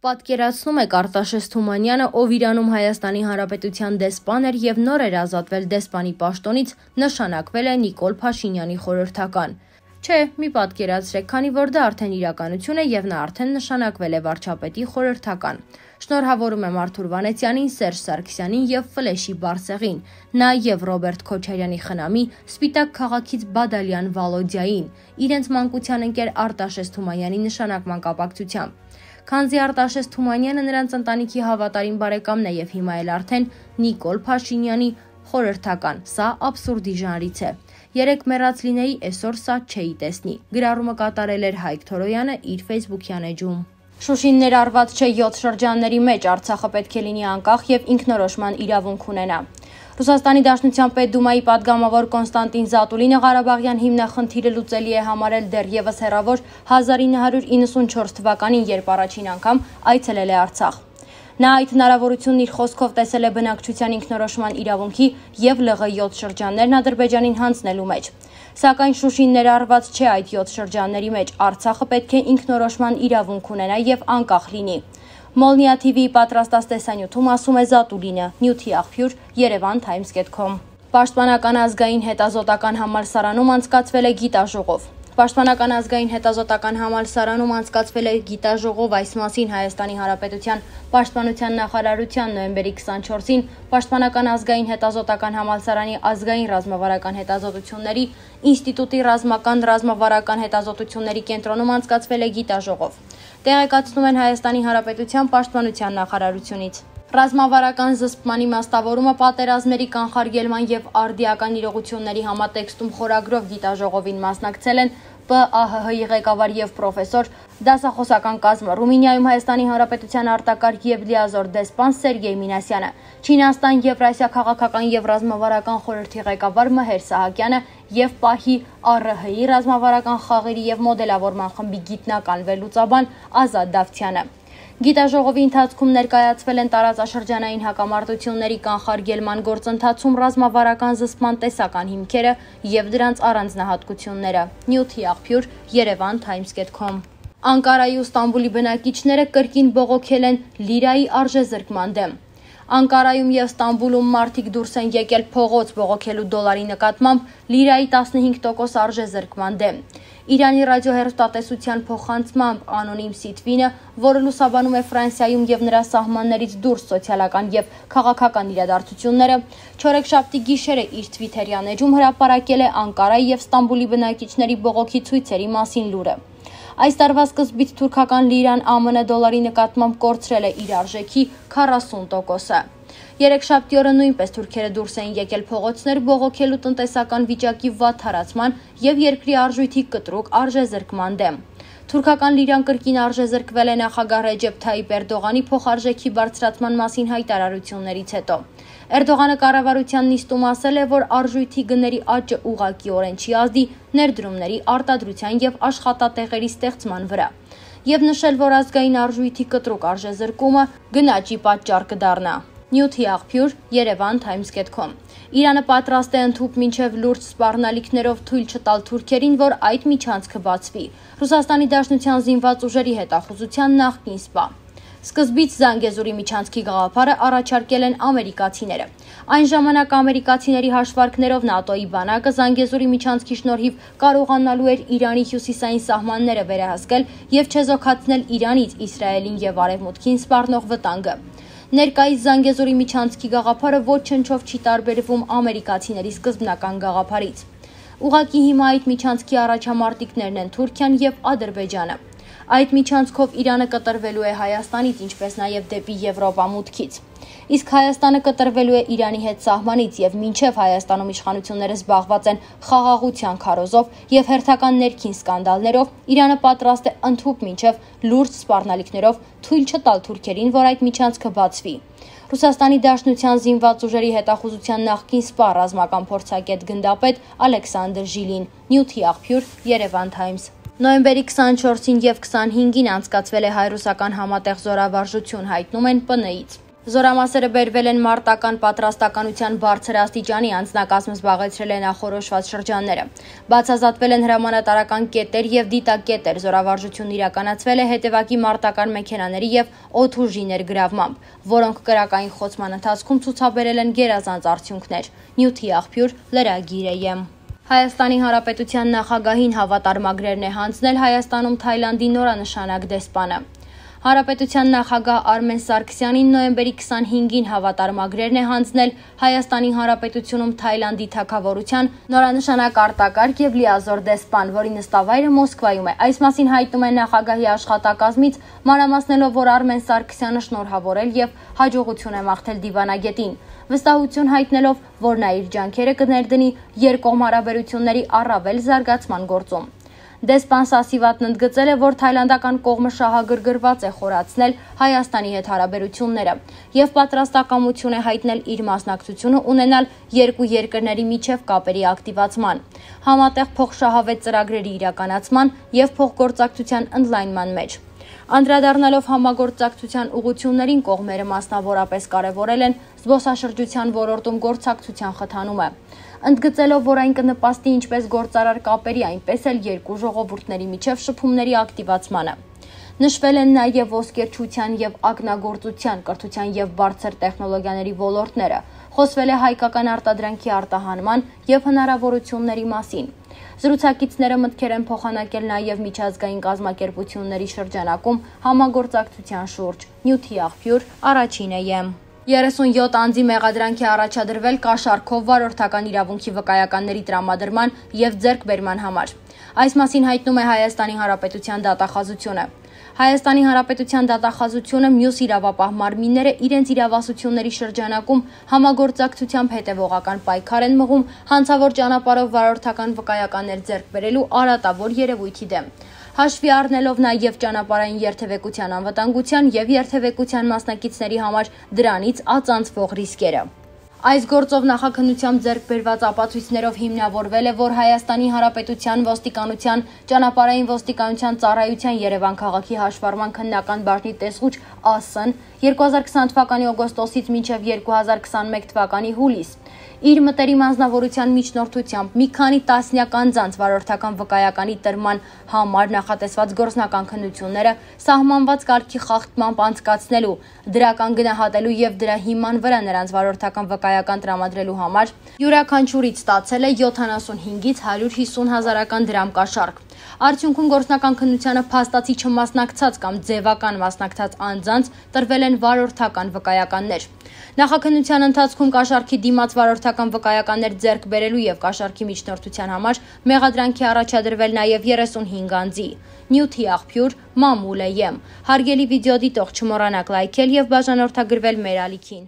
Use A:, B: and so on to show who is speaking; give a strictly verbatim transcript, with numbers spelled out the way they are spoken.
A: Պատկերացնում եք Արտաշես Թումանյանը, ով Իրանում Հայաստանի Հանրապետության դեսպան էր և նոր էր ազատվել դեսպանի պաշտոնից, նշանակվել է Նիկոլ Փաշինյանի խորհրդական։ Չէ, մի պատկերացրեք, քանի որ դա արդեն իրականություն է և նա արդեն նշանակվել է վարչապետի խորհրդական։ Շնորհավորում եմ Արթուր Վանեցյանին, Սերժ Սարգսյանին և Ֆլեշի Բարսեղին, նաև Ռոբերտ Քոչարյանի խնամի Սպիտակ քաղաքից Բադալյան Վալոդիային, իրենց մանկության ընկեր Արտաշես Թումանյանի նշանակման կապակցությամբ։ Քանզի Արտաշես Թումանյանը նրանց ընտանիքի հավատարիմ բարեկամն է և հիմա էլ արդեն Նիկոլ Փաշինյանի խորհրդական, սա աբսուրդի ժանրից է։ Երեկ մեռած լինեի, այսօր սա չէի տեսնի։ Գրառումը կատարել էր Հայկ Թորոյանը իր ֆեյսբուքյան էջում։ Շուշին ներառված չէ յոթ շրջանների մեջ, Արցախը պետք է լինի անկախ և ինքնորոշման իրավունք ունենա։ Ռուսաստանի Դաշնության Պետդումայի падգամավոր Կոնստանտին Զատուլինը Ղարաբաղյան հիմնախնդիրը լուծելի է համարել դեռևս հեռավոր հազար ինը հարյուր իննսունչորս թվականին, երբ առաջին անգամ այցելել է Արցախ։ Նա այդ հնարավորությունն իր խոսքով տեսել է բնակչության ինքնորոշման իրավունքի և ԼՂ յոթ շրջաններն Ադրբեջանին հանձնելու մեջ։ Սակայն Շուշին ներառված չէ այդ յոթ շրջանների մեջ, Արցախը պետք է ինքնորոշման իրավունք ունենա և անկախ լինի։ Molnia T V-ի պատրաստած տեսանյութում ասում է Զատուլինը, նյութի աղբյուր Երևան Times dot com։ Պաշտպանական ազգային հետազոտական համալսարանում անցկացվել է գիտաժողով։ Պաշտպանական ազգային հետազոտական համալսարանում անցկացվել է գիտաժողով, այս մասին Հայաստանի Հանրապետության Պաշտպանության նախարարության նոյեմբերի քսանչորսին Պաշտպանական ազգային հետազոտական համալսարանի ազգային ռազմավարական հետազոտությունների ինստիտուտի ռազմական ռազմավարական հետազոտությունների կենտրոնում անցկացվել է գիտաժողով։ Տեղեկացնում են Հայաստանի Հանրապետության Պաշտպանության նախարարությունից։ Ռազմավարական զսպման իմաստավորումը պատերազմների կանխարգելման և արդիական իրողությունների համատեքստում խորագրով գիտաժողովին մասնակցել են Պ Ա Հ Հ-ի ղեկավար և պրոֆեսոր, դասախոսական կազմը, Ռումինիայում Հայաստանի Հանրապետության արտակարգ և լիազոր դեսպան Սերգեյ Մինասյանը, Չինաստան Եվրասիա քաղաքական և ռազմավարական խորհրդի ղեկավար Մհեր Սահակյանը և Պահի Ա Ռ Հ-ի ռազմավարական խաղերի և մոդելավորման խմբի գիտնական վերլուծաբան Ազատ Դավթյանը։ Գիտաժողովի ընթացքում ներկայացվել են տարածաշրջանային հակամարտությունների կանխարգելման գործընթացում ռազմավարական զսպման տեսական հիմքերը և դրանց առանձնահատկությունները։ Նյութի աղբյուր Երևան Times dot com։ Անկարայի ու Ստամբուլի բնակիչները կրկին բողոքել են լիրայի արժեզրկման դեմ։ Անկարայում և Ստամբուլում մարդիկ դուրս են եկել փողոց բողոքելու դոլարի նկատմամբ լիրայի տասնհինգ տոկոս արժեզրկման դեմ։ Իրանի ռադիոհեռուստատեսության փոխանցմամբ անոնիմ Սիթվինը, որը լուսաբանում է Ֆրանսիայում և նրա սահմաններից դուրս սոցիալական և քաղաքական իրադարձությունները, չորեքշաբթի գիշերը իր թվիթերյան էջում հրապարակել է Անկարայի և Ստամբուլի բնակիչների բողոքի ցույցերի մասին լուրը։ Այս տարվա սկզբից թուրքական լիրան Ա Մ Ն դոլարի նկատմամբ կորցրել է իր արժեքի քառասուն տոկոսը։ Երեքշաբթի օրը նույնպես թուրքերը դուրս էին եկել փողոցներ բողոքելու տնտեսական վիճակի վատ հարացման և երկրի արժույթի կտրուկ արժեզրկման դեմ։ Թուրքական լիրան կրկին արժեզրկվել է նախագահ Ռեջեփ Թայիպ Էրդողանի փոխարժեքի բարձրացման մասին հայտարարություններից հետո։ Էրդողանը կառավարության նիստում ասել է, որ արժույթի գների աճը ուղղակիորեն չի ազդի ներդրումների արտադրության և աշխատատեղերի ստեղծման վրա, և նշել, որ ազգային արժույթի կտրուկ արժեզրկումը գնաճի պատճառ կդառնա։ Նյութի աղբյուր Երևան Times dot com։ Իրանը պատրաստ է ընդհուպ մինչև լուրջ սպառնալիքներով թույլ չտալ թուրքերին, որ այդ միջանցքը բացվի։ Ռուսաստանի Դաշնության զինված ուժերի հետախուզության նախկին սպա։ Սկզբից Զանգեզուրի միջանցքի գաղափարը առաջարկել են ամերիկացիները։ Այն ժամանակ ամերիկացիների հաշվարկներով ՆԱՏՕ-ի բանակը Զանգեզուրի միջանցքի շնորհիվ կարողանալու էր Իրանի հյուսիսային սահմանները վերահսկել և չեզոքացնել Իրանից Իսրայելին և Արևմուտքին սպառնող վտանգը։ Ներկայիս Զանգեզուրի միջանցքի գաղափարը ոչնչով չի տարբերվում ամերիկացիների սկզբնական գաղափարից։ Ուղղակի հիմա այդ միջանցքի առաջամարտիկներն են Թուրքիան և Ադրբեջանը։ Այդ միջանցքով Իրանը կտրվելու է Հայաստանից, ինչպես նաև դեպի Եվրոպա մուտքից։ Իսկ Հայաստանը կտրվելու է Իրանի հետ սահմանից, և մինչև Հայաստանում իշխանությունները զբաղված են խաղաղության քարոզով և հերթական ներքին սկանդալներով, Իրանը պատրաստ է ընդհուպ մինչև լուրջ սպառնալիքներով թույլ չտալ թուրքերին, որ այդ միջանցքը բացվի։ Ռուսաստանի Դաշնության զինված ուժերի հետախուզության նախկին սպա, ռազմական փորձագետ գնդապետ Ալեքսանդր Ժիլին, նյութի աղբյուր Երևան Times։ Նոյեմբերի քսանչորսին և քսանհինգին անցկացվել է հայ-ռուսական համատեղ զորավարժություն, հայտնում են Պ Ն-ից։ Զորամասերը բերվել են մարտական պատրաստականության բարձր աստիճանի, անձնակազմը զբաղեցրել է նախորոշված շրջանները։ Բացազատվել են հրամանատարական կետեր եւ դիտակետեր, զորավարժությունն իրականացվել է հետևակի մարտական մեքենաների եւ օդուժի ներգրավմամբ, որոնք կրակային խոցման ընթացքում ցուցաբերել են գերազանց արդյունքներ։ Նյութի աղբյուր լրագիր է։ Հայաստանի Հանրապետության նախագահին հավատարմագրերն է հանձնել Հայաստանում Թայլանդի նորանշանակ դեսպանը։ Հանրապետության նախագահ Արմեն Սարգսյանին նոյեմբերի քսանհինգին հավատարմագրերն է հանձնել Հայաստանի Հանրապետությունում Թայլանդի թագավորության նորանշանակ արտակարգ եւ լիազոր դեսպան, որի նստավայրը Մոսկվայում է։ Այս մասին հայտնում է նախագահի աշխատակազմից, մանրամասնելով, որ Արմեն Սարգսյանը շնորհավորել եւ հաջողություն է մաղթել դիվանագետին, վստահություն հայտնելով, որ նա իր ջանքերը կներդնի երկկողմ հարաբերությունների առավել զարգացման գործում։ Դեսպան Սասիվատն ընդգծել է, որ թայլանդական կողմը շահագրգռված է խորացնել Հայաստանի հետ հարաբերությունները եւ պատրաստակամություն է հայտնել իր մասնակցությունը ունենալ երկու երկրների միջև կապերի ակտիվացման, համատեղ փոխշահավետ ծրագրերի իրականացման եւ փոխգործակցության ընդլայնման մեջ։ Անդրադառնալով համագործակցության ուղղություններին, կողմերը մասնավորապես կարևորել են զբոսաշրջության ոլորտում գործակցության խթանումը, ընդգծելով, որ այն կնպաստի ինչպես գործարար կապերի, այնպես էլ երկու ժողովուրդների միջև շփումների ակտիվացմանը։ Նշվել են նաև ոսկերչության եւ ակնագործության, կրթության եւ բարձր տեխնոլոգիաների ոլորտները, խոսվել է հայկական արտադրանքի արտահանման եւ հնարավորությունների մասին։ Զրուցակիցները մտքեր են փոխանակել նաև միջազգային կազմակերպությունների շրջանակում համագործակցության շուրջ։ Նյութի աղբյուր առաջինը է։ երեսունյոթ անձի մեղադրանքի առաջադրվել կաշառքով վարորդական իրավունքի վկայականների տրամադրման եւ ձեռքբերման համար։ Այս մասին հայտնում է Հայաստանի Հանրապետության դատախազությունը։ Հայաստանի Հանրապետության դատախազությունը մյուս իրավապահ մարմինները իրենց իրավասությունների շրջանակում համագործակցությամբ հետևողական պայքար են մղում հանցավոր ճանապարհով վարորդական վկայականներ ձեռք բերելու արատավոր երևույթի դեմ, հաշվի առնելով նաև ճանապարհային երթևեկության անվտանգության եւ երթևեկության մասնակիցների համար դրանից ածանցվող ռիսկերը։ Այս գործով նախաքննությամբ ձեռք բերված ապացույցներով հիմնավորվել է, որ Հայաստանի Հանրապետության ոստիկանության ճանապարհային ոստիկանության ծառայության Երևան քաղաքի հաշվառման քննական բաժնի տեսուչ ԱՍ-ն երկու հազար քսան թվականի օգոստոսից մինչև երկու հազար քսանմեկ թվականի հուլիս իր մտերիմ անձնավորության միջնորդությամբ մի քանի տասնյակ անձանց վարորդական վկայականի տրման համար նախատեսված գործնական քննությունները սահմանված կարգի խախտմամբ անցկացնելու, դրական գնահատելու եւ դրա հիման վրա նրանց վարորդական վկայական տրամադրելու համար յուրաքանչյուրից ստացել է յոթանասունհինգից հարյուր հիսուն հազարական դրամ կաշառք։ Արդյունքում գործնական քննությանը փաստացի չմասնակցած կամ ձևական մասնակցած անձանց տրվել են վարորդական վկայականներ։ Նախաքննության ընթացքում կաշառքի դիմաց վարորդական վկայականներ ձեռք բերելու եւ կաշառքի միջնորդության համար մեղադրանքի առաջադրվել նաեւ երեսունհինգ անձի։ Նյութի աղբյուր մամուլ է։ Հարգելի վիդեո դիտող, չմոռանաք լայքել եւ բաժանորդագրվել մեր ալիքին։